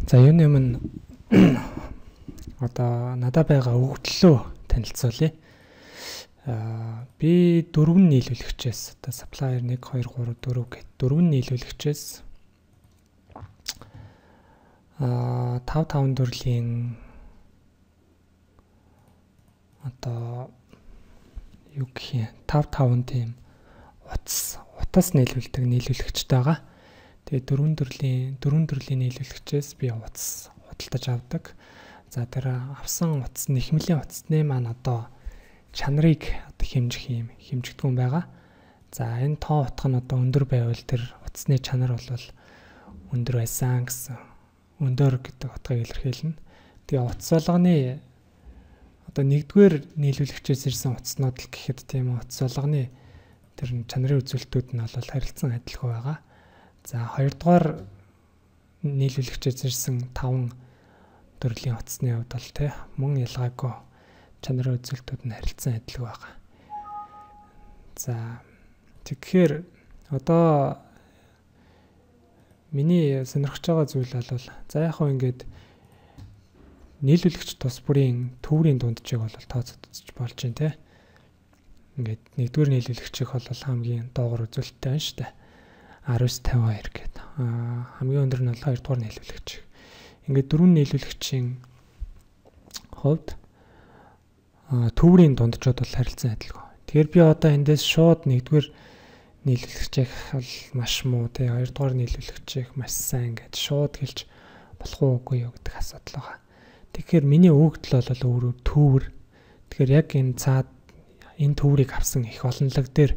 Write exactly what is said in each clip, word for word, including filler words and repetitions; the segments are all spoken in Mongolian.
За юуны өмнө одоо надад байгаа өгөгдлөө танилцуулъя. Аа би дөрвөн нийлүүлэгчээс одоо supplier one two three four гэт дөрвөн нийлүүлэгчээс аа five five төрлийн одоо юу гэх юм five five тийм утас утас нийлүүлдэг нийлүүлэгчтэй байгаа. Тэгээ дөрвөн төрлийн дөрвөн төрлийн нийлүүлэгчээс би утас худалдаж авдаг. За тэр авсан утас нэхмэлийн утасны маань одоо чанарыг одоо хэмжих юм хэмжигдгүн байгаа. За энэ тоо утга нь одоо өндөр байвал тэр утасны чанар бол өндөр байсан гэсэн өндөр гэдэг утгыг илэрхийлнэ. Тэгээ утас болгоны одоо нэгдүгээр нийлүүлэгчээс ирсэн утаснууд л гэхэд тийм утас болгоны тэр чанарын үзүүлэлтүүд нь бол харилцан адилхан байгаа. За хоёрдугаар нийлүүлэгчээс ирсэн таван төрлийн утасны хувьд бол тий мөн ялгаагүй чанарын үзүүлэлтүүд нь харилцан адилхан байгаа. За тэгэхээр одоо миний сонирхож байгаа зүйл бол за яг хөө ингээд нийлүүлэгч тус бүрийн төврийн дунджийг бол тооцоолж болж байна тий. Ингээд нэгдүгээр нийлүүлэгчийг бол хамгийн доогуур үзүүлэлттэй байна шүү дээ. ten fifty-two гэдэг. Аа хамгийн өндөр нь бол хоёрдугаар нийлүүлэгч. Ингээд дөрвөн нийлүүлэгчийн хувьд аа төврийн дунджууд бол харилцан адилхан. Тэгэхээр би одоо эндээс шууд нэгдүгээр нийлүүлэгчийг бол маш муу тий хоёрдугаар нийлүүлэгчийг маш сайн гэж шууд хэлж болох уугүй юу гэдэг асуудал байгаа. Тэгэхээр миний өгөгдөл бол өөрөө төвөр. Тэгэхээр яг энэ цаад энэ төврийг авсан их олонлог дээр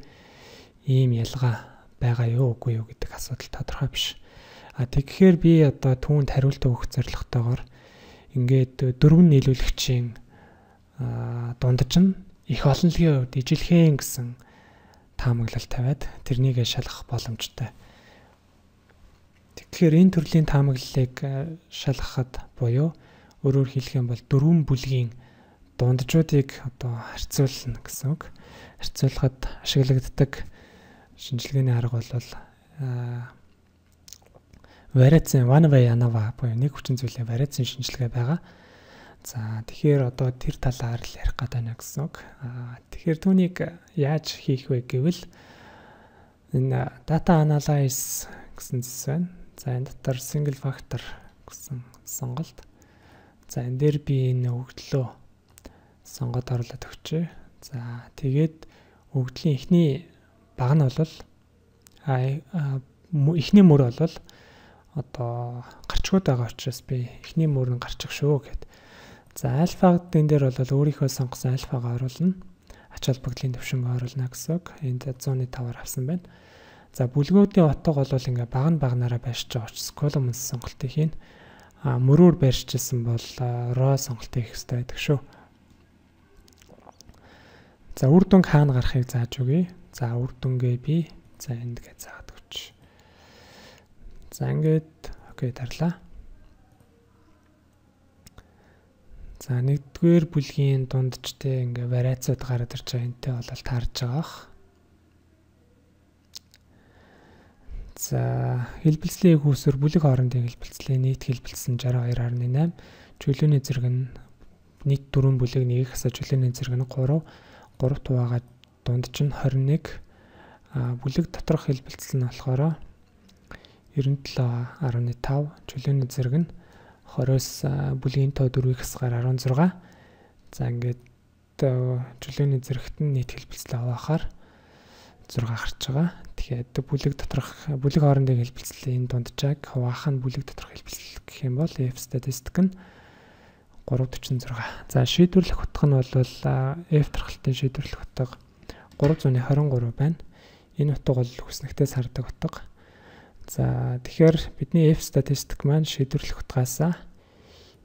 ийм ялгаа байгаа юу үгүй юу гэдэг асуудал тодорхой биш. А тэгэхээр би одоо түүнд хариулт өгөх зорилготойгоор ингээд дөрвөн нийлүүлэгчийн дундаж нь их олонлогийн хувьд ижилхэн гэсэн таамаглал тавиад тэрнийг шалгах боломжтой. Тэгэхээр энэ төрлийн таамаглалыг шалгахад буюу өөрөөр хэлэх юм бол дөрвөн бүлгийн дунджуудыг одоо харьцуулна гэсэн үг. Харьцуулахад ашиглагддаг шинжилгээний арга бол вариацийн one way ANOVA буюу нэг хүчин зүйлийн вариацийн шинжилгээ байгаа. За тэгэхээр одоо тэр талаар л ярих гэдэг байна гэсэн үг. Тэгэхээр түүнийг яаж хийх вэ гэвэл энэ data analysis гэсэн зүйл байна. За энэ дотор single factor гэсэн сонголт. За энэ дээр би энэ өгөгдлөө сонгоод оруулаад өгчээ. За тэгээд өгөгдлийн эхний баг нь бол эхний мөр бол одоо гарчгууд байгаа учраас би эхний мөр нь гарчих шүү гэд. За альфагд энэ дээр бол өөрийнхөө сонгосон альфагаа оруулна. Ач холбогдлын төвшөнгө оруулна гэсэн үг. Энд one oh five-аар авсан байна. За бүлгүүдийн утга бол ингээ баг нь багнаараа байршиж байгаа учраас column сонголтыг хийн. А мөрөөр байршижсэн бол row сонголтыг хийх хэрэгтэй байдаг шүү. За үр дүнг хаана гарахыг зааж өгье. За үр дүнгээ би за энд гэж заагаад өгч. За ингээд окей дарлаа. За нэгдүгээр бүлгийн дундчтэй ингээ вариацууд гараад ирж байгаа. Энтэй бол таарж байгаа. За хэлбэлцлийн хөөсөр бүлэг хоорондын хэлбэлцлийн нийт хэлбэлцсэн sixty-two point eight. Чөлөөний зэрэг нь нийт дөрвөн бүлэг нэгийг хасаж чөлөөний зэрэг нь three three тугаага дундч нь twenty-one. А бүлэг доторх хэлбэлцэл нь болохоор ninety-seven point five. Чөлөөний зэрэг нь twenty-оос бүлгийн тоо дөрвийг хасгаар sixteen. За ингээд чөлөөний зэрэгт нь нийт хэлбэлцэл авахаар six гарч байгаа. Тэгэхээр бүлэг доторх бүлэг хоорондын хэлбэлцлийн дунджааг хуваах нь бүлэг доторх хэлбэлцэл гэх юм бол F statistic нь three forty-six. За шийдвэрлэх утга нь бол F тархалтын шийдвэрлэх утга three twenty-three байна. Энэ утга бол хүснэгтээс хардаг утга. За тэгэхээр бидний F statistic маань шийдвэрлэх утгаас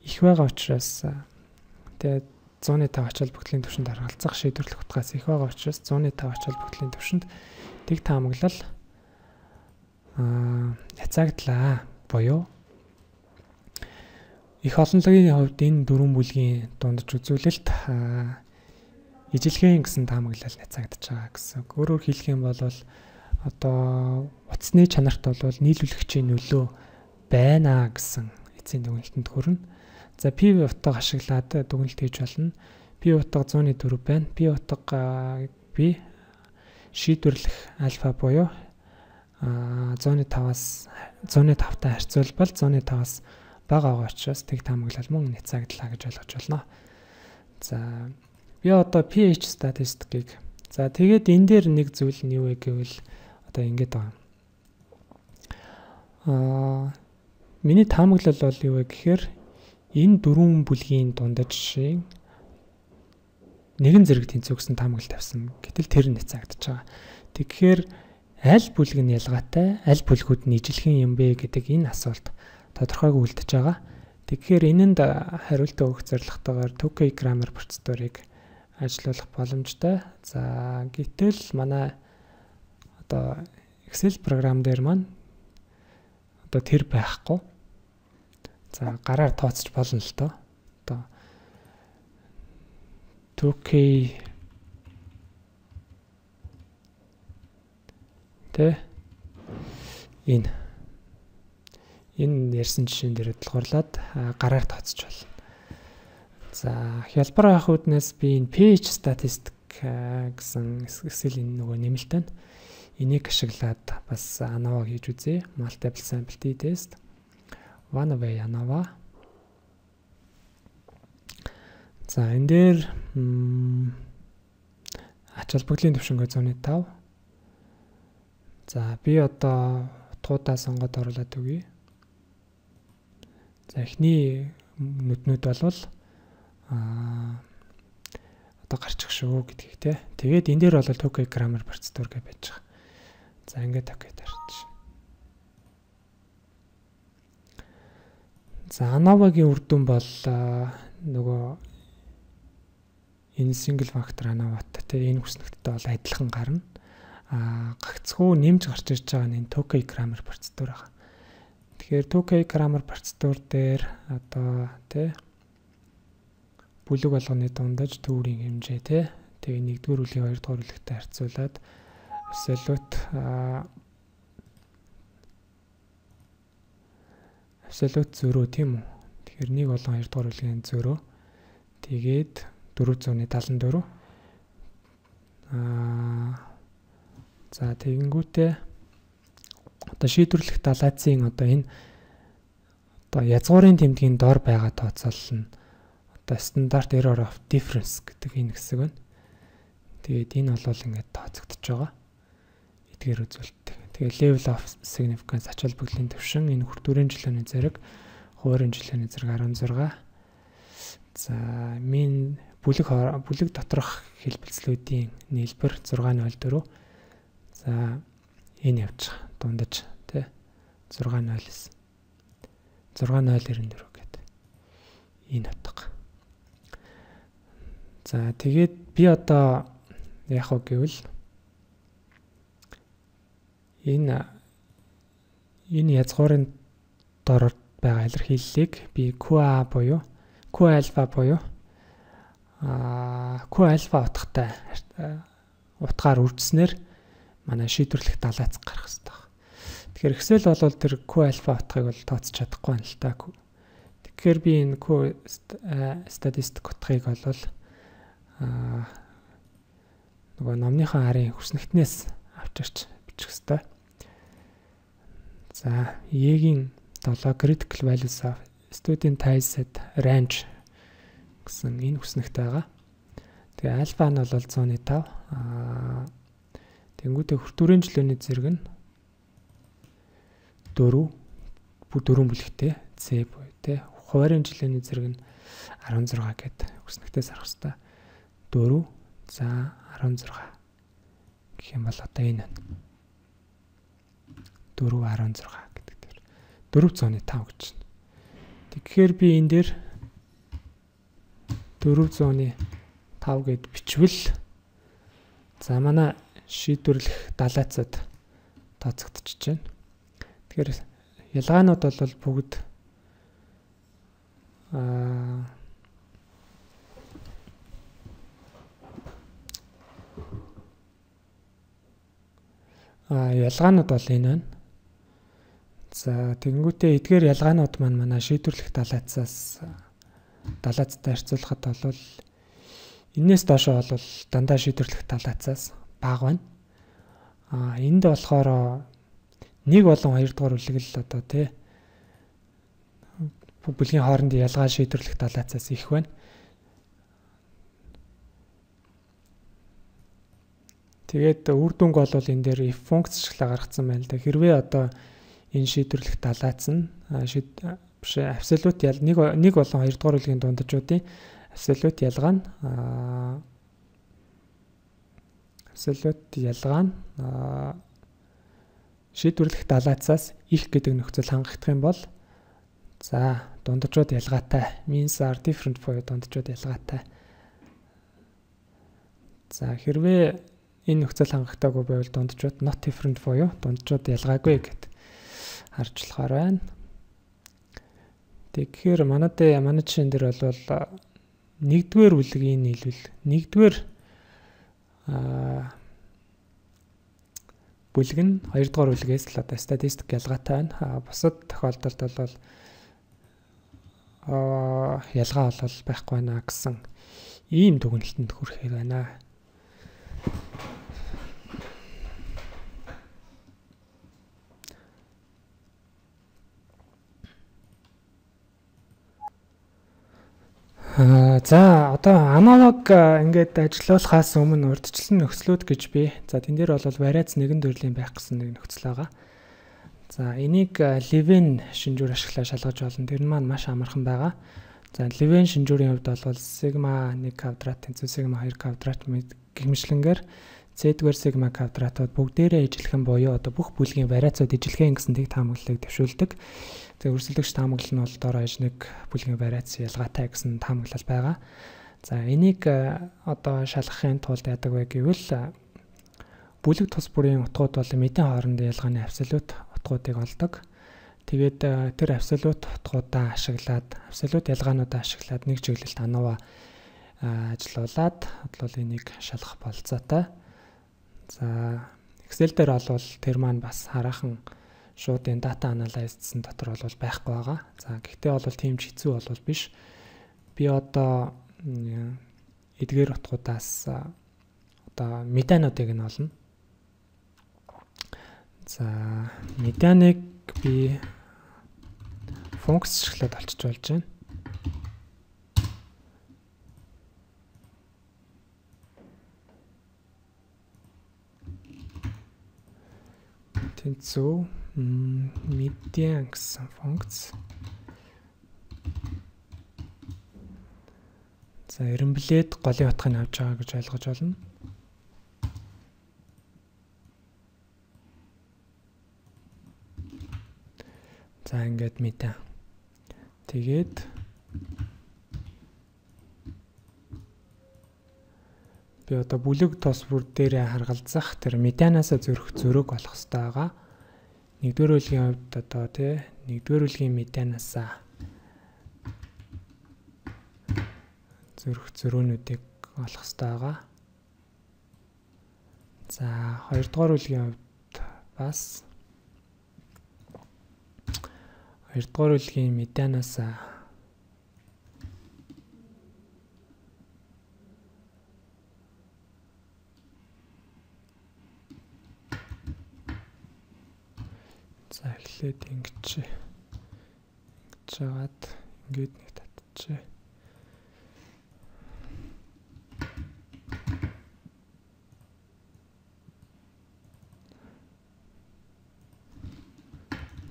их байгаа учраас тэгээд one oh five ач холбогдлын түвшинд харгалзах шийдвэрлэх утгаас их байгаа учраас one oh five ач холбогдлын түвшинд тэг таамаглал аа хязгаардлаа буюу их олонлогийн хувьд энэ дөрвөн бүлгийн дундаж үзүүлэлт ижилхэн гэсэн таамаглал хязгаардж байгаа гэсэн. Өөрөөр хэлэх юм бол одоо утасны чанарт бол нийлүүлэгчийн нөлөө байна гэсэн хилцээний дүгнэлтэнд хүрнэ. За пи утга ашиглаад дүгнэлт хийж болно. Пи утга зууны дөрөв байна. Пи утга би шийдвэрлэх альфа буюу зууны таваас зууны тавтай харьцуулбал зууны таваас бага байгаа учраас тэг таамаглал мөн няцаагдлаа гэж ойлгож байна. За би одоо pH статистикийг за тэгээд энэ дээр нэг зүйл нь юу вэ гэвэл одоо ингэж байгаа. Аа миний таамаглал бол юу вэ гэхээр энэ дөрвөн бүлгийн дундаж нэгэн зэрэг тэнцвэгсэн таамаглал тавьсан. Гэтэл тэр нь няцаагдаж байгаа. Тэгэхээр аль бүлэг нь ялгаатай, аль бүлгүүд нь ижилхэн юм бэ гэдэг энэ асуулт тодорхойгүй үлдэж байгаа. Тэгэхээр энэнд хариулт өгөх зорилготойгоор two K grammar процедурыг ажиллуулах боломжтой. За гэтэл манай одоо Excel програм дээр маань одоо тэр байхгүй. За гараар тооцож болно л доо. Одоо two K тэ энэ энэ ярьсан жишээн дээр дэлгуурлаад гараар тооцож байна. За хялбар авах үднээс би энэ pH statistic гэсэн Excel-ийн нөгөө нэмэлт байна. Энийг ашиглаад бас ANOVA хийж үзье. Multiple sample t-test. One way ANOVA. За энэ дээр ач холбогдлын түвшингөө зууны тав. За би одоо утгуудаа сонгоод оруулаад өгье. За эхний нүднүүд болвол аа одоо гарчих шүү гэдгийг те. Тэгээд энэ дээр бол two K grammar процедур гэж байж байгаа. За ингээд окей тарч. За ANOVA-гийн үр дүн бол нөгөө энэ single factor ANOVA-тай те энэ хүснэгттэй бол адилхан гарна. А гагцхүү нэмж гарч ирж байгаа нь энэ two K grammar процедур байгаа. Тэгэхээр two K grammar процедур дээр одоо тий бүлэг болгоны дундаж төвөрийн хэмжээ тий тэгээ нэгдүгээр бүлгийн хоёрдугаар бүлэгтэй харьцуулаад absolute absolute зөрөө тийм үү. Тэгэхээр нэг болон хоёрдугаар бүлгийн зөрөө тэгээд дөрвөн зуун талан дөрөв аа за тэгэнгүүтээ одоо шийдвэрлэх далайцын одоо энэ одоо язгуурын тэмдгийн дор байгаа тооцоол нь одоо стандарт error of difference гэдэг энэ хэсэг байна. Тэгээд энэ бол ингээд тооцогдож байгаа. Эдгээр үзүүлэлт. Тэгээд level of significance ач холбогдлын түвшин энэ хүртүүрийн жилийн зэрэг хуурийн жилийн зэрэг арван зураг. За min бүлэг бүлэг доторх хэлбэлцлүүдийн нийлбэр сix null four. За энэ явж байгаа. Дундаж тий six null six null nine four гэдэг энэ утга. За тэгээд би одоо яах вэ гэвэл энэ энэ язгуурын дор байгаа илэрхийллийг би Q A буюу Q alpha буюу а Q alpha утгатай утгаар үржснээр манай шийдвэрлэх далайц гарах хэрэгтэй. Тэгэхээр Excel бол тэр Q alpha утгыг бол тооцож чадахгүй байна л та. Тэгэхээр би энэ Q statistic утгыг бол аа нөгөө номныхаа арын хүснэгтнээс авчирч бичих хэрэгтэй. За E-гийн seven critical values of studentized range гэсэн энэ хүснэгт байгаа. Тэгээ альфа нь бол one oh five аа тэнгуүтэй хүртүүрийн жилийн зэрэг нь four дөрвөн бүлэгтэй C буюу те хуурийн жилийн зэрэг нь sixteen гэдэг хүснэгтээс арах хэвээр four за sixteen гэх юм бол одоо энэ four sixteen гэдэг дээр four oh five гэж байна. Тэгэхээр би энэ дээр four oh five гэд бичвэл за манай шийдвэрлэх далайцад тооцогдчихж байна. Тэгэхээр ялгаанууд бол бүгд аа а ялгаанууд бол энэ байна. За тэгэнгүүтээ эдгээр ялгаанууд маань манай шийдвэрлэх далайцаас далайцтай харьцуулахад бол энээс доошоо бол дандаа шийдвэрлэх далайцаас бага байна. А энд болохоор нэг болон хоёр дахь үлгэл одоо тий бүлгийн хоорондын ялгаа шийдвэрлэх далайцаас их байна. Тэгээд үр дүнг бол энэ дээр if функцчлаа гаргацсан байна л да. Хэрвээ одоо энэ шийдвэрлэх далайц нь биш абсолют ял нэг нэг болон хоёр дахь үлгийн дундажуудын абсолют ялгаа нь абсолют ялгаа нь шийдвэрлэх далайцаас их гэдэг нөхцөл хангагдах юм бол за дундажууд ялгаатай means are different буюу дундажууд ялгаатай. За хэрвээ энэ нөхцөл хангагдаагүй байвал дундажууд not different буюу дундажууд ялгаагүй гэд харж болохоор байна. Тэгэхээр манайд манай жишээн дээр бол нэгдүгээр үлгийн нийлүүл нэгдүгээр аа бүлэг нь хоёр дахь үлгээс л одоо статистик ялгаатай байна. Бусад тохиолдолд бол аа ялгаа бол байхгүй байна гэсэн ийм дүгнэлтэнд хүрэхээр байна. Аа за одоо аналог ингээд ажиллуулахаас өмнө урьдчилсан нөхцлүүд гэж би за тэн дээр бол вариац нэгэн төрлийн байх гэсэн нэг нөхцөл байгаа. За энийг Левен шинжүүр ашиглаж шалгаж болно. Тэр нь маань маш амархан байгаа. За Левен шинжүүрийн хувьд бол сигма нэг квадрат тэнцүү сигма хоёр квадрат гихмишлэнгээр z-гээр сигма квадратууд бүгдээрээ ижилхэн буюу одоо бүх бүлгийн вариацууд ижилхэн гэсэн тэг таамаглалыг төвшүүлдэг. За өрсөлдөгч таамаглал нь бол доор хаяж нэг бүлгийн вариац ялгаатай гэсэн таамаглал байгаа. За энийг одоо шалгахын тулд яадаг вэ гэвэл бүлэг тус бүрийн утгууд бол мэдэн хоорондын ялгааны абсолют утгуудыг олдог. Тэгээд тэр абсолют утгуудаа ашиглаад абсолют ялгаануудаа ашиглаад нэг чиглэлд анува ажиллуулад бол энийг шалгах болцоотой. За Excel дээр бол тэр маань бас хараахан шууд энэ data analysis-ын дотор бол байхгүй байгаа. За гэхдээ бол тийм ч хэцүү бол биш. Би одоо эдгээр утгуудаас одоо медиануудыг нь олно. За медианыг би функц ашиглаад олчиж болж байна. Тэнцүү медиан гэсэн функц. За эренблээд голын утгыг авч байгаа гэж ойлгож байна. За ингээд медиан. Тэгээд би одоо бүлэг тос бүр дээрээ харгалзах тэр медианаас зөрөх зөрөг болох хэрэгтэй байгаа. Нэгдүгээр үлгийн хувьд одоо тий нэгдүгээр үлгийн медианаас зөрөх зөрөөнүүдийг олох хэрэгтэй байгаа. За хоёрдугаар үлгийн хувьд бас хоёрдугаар үлгийн медианаас за эхлээд ингэж ингэж жагаад ингээд нэг татчихъя.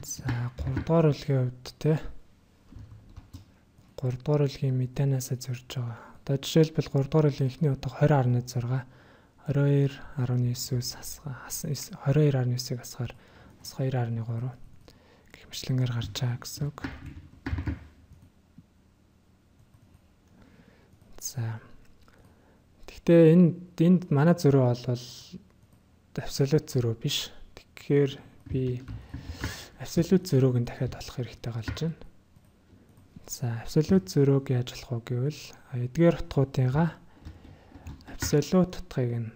За гуравдугаар үлгийн хувьд те гуравдугаар үлгийн медианаас зөрж байгаа. Одоо жишээлбэл гуравдугаар үлгийн эхний утга двадцать гаруй зураг двадцать two гаруй нine-ээс асгаа двадцать two гаруй nine-ийг асгаар two гаруй three гэх мэтлэнгээр гарч байгаа гэсэн үг. За. Гэхдээ энэ энд манай зөрөө бол абсолют зөрөө биш. Тэгэхээр би абсолют зөрөөг нь дахиад олох хэрэгтэй болж байна. За, абсолют зөрөөг яаж олох вэ гэвэл эдгээр утгуудыгаа абсолют утгыг нь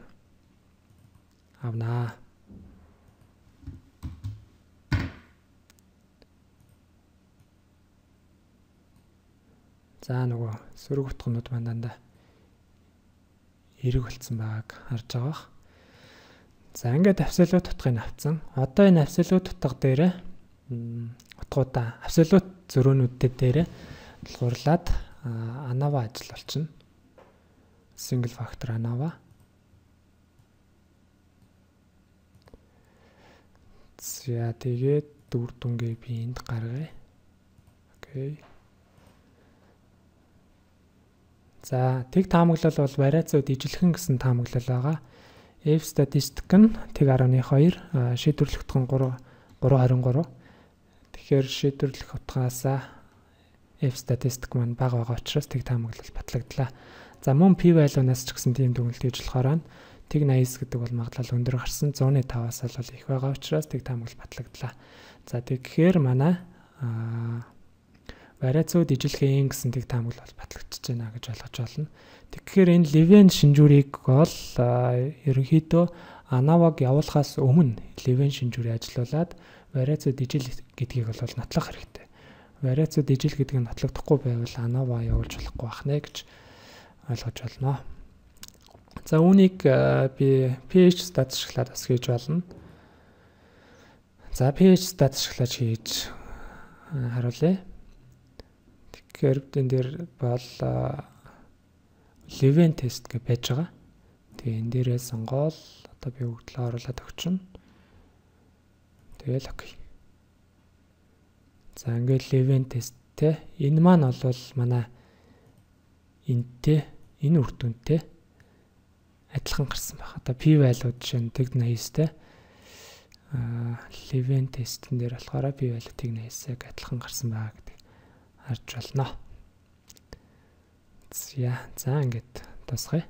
авнаа. За нөгөө сөрөг утгнууд маань дандаа эрэг болцсон байгааг харж байгаа. За ингээд абсолют утгыг авцсан. Одоо энэ абсолют утга дээр утгуудаа абсолют зөрөөнүүдтэй дээр тулгуурлаад ANOVA ажил болчихно. Single factor ANOVA. За тэгээд дүр дүнгээ би энд гаргая. Окей. За тэг таамаглал бол вариацууд ижилхэн гэсэн таамаглал байгаа. F statistic нь тэг ten two, шийдвэрлэх утга нь three twenty-three. Тэгэхээр шийдвэрлэх утгаасаа F statistic маань бага байгаа учраас тэг таамаглал батлагдлаа. За мөн p value-наас ч гэсэн тийм дүгнэлт хийж болохоор тэг eighty гэдэг бол магадлал өндөр гарсан one oh five-аас бол их байгаа учраас тэг таамаглал батлагдлаа. За тэгэхээр манай вариацууд ижилхэн гэсэн тэг таамаглал бол батлагдчихж байна гэж ойлгож байна. Тэгэхээр энэ Levin шинжүүрийг бол ерөнхийдөө ANOVA-г явуулахаас өмнө Levin шинжүүрийг ажилуулад вариацууд ижил гэдгийг бол нотлох хэрэгтэй. Вариацууд ижил гэдэг нь нотлогдохгүй байвал ANOVA явуулж болохгүй бахнэ гэж ойлгож байна. За үүнийг би pH stat ашиглаад бас хийж болно. За pH stat ашиглаж хийж харуулъя. Тэгэхээр энэ дээр бол Levin test гэж байж байгаа. Тэгээ энэ дээрээ сонгоол одоо би өгдлөө оруулаад өгчнө. Тэгэл окей. За ингээд Levin testтэй энэ маань бол манай энтэй энэ үр дүнтэй адилхан гарсан байна. Одоо p value жишээ нь тэг eighty-тэй аа Levin testэн дээр болохоор p value тэг eighty-г адилхан гарсан байгаа гэдэг харж байна. За за ингээд тусгая.